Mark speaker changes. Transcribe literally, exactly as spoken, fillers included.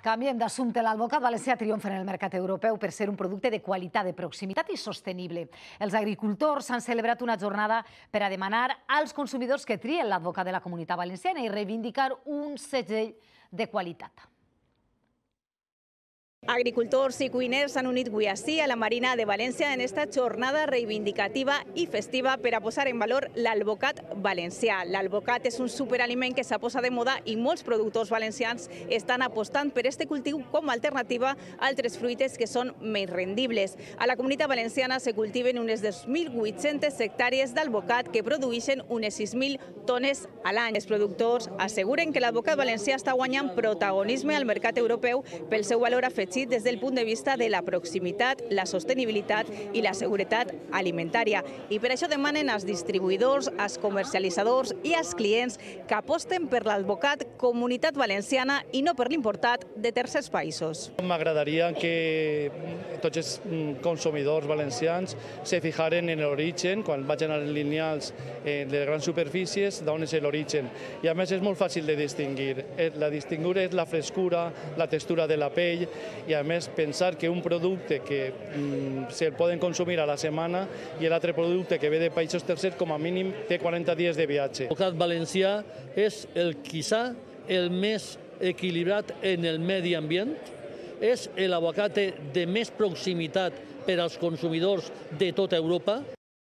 Speaker 1: Canviem d'assumpte. L'alvocat valencià triomfa en el mercat europeu per ser un producte de qualitat, de proximitat i sostenible. Els agricultors han celebrat una jornada per a demanar als consumidors que trien l'advocat de la Comunitat Valenciana i reivindicar un segell de qualitat.
Speaker 2: Agricultors i cuiners s'han unit avui ací a la Marina de València en esta jornada reivindicativa i festiva per a posar en valor l'alvocat valencià. L'alvocat és un superaliment que s'ha posat de moda i molts productors valencians estan apostant per este cultiu com a alternativa a altres fruites que són més rendibles. A la Comunitat Valenciana se cultiven unes dos mil vuit-centes hectàrees d'alvocat que produeixen unes sis mil tones a l'any. Els productors asseguren que l'alvocat valencià està guanyant protagonisme al mercat europeu pel seu valor afegit des del punt de vista de la proximitat, la sostenibilitat i la seguretat alimentària. I per això demanen als distribuïdors, als comercialitzadors i als clients que aposten per l'alvocat Comunitat Valenciana i no per l'importat de tercers països.
Speaker 3: M'agradaria que tots els consumidors valencians se fijaren en l'origen, quan vagin a les lineals de grans superfícies, d'on és l'origen. I a més és molt fàcil de distingir. La distingur és la frescura, la textura de la pell, i a més pensar que un producte que mm, se'l poden consumir a la setmana i l'altre producte que ve de països tercers com a mínim té quaranta dies de viatge.
Speaker 4: L'alvocat valencià és el quizá el més equilibrat en el medi ambient, és l'alvocat de més proximitat per als consumidors de tota Europa.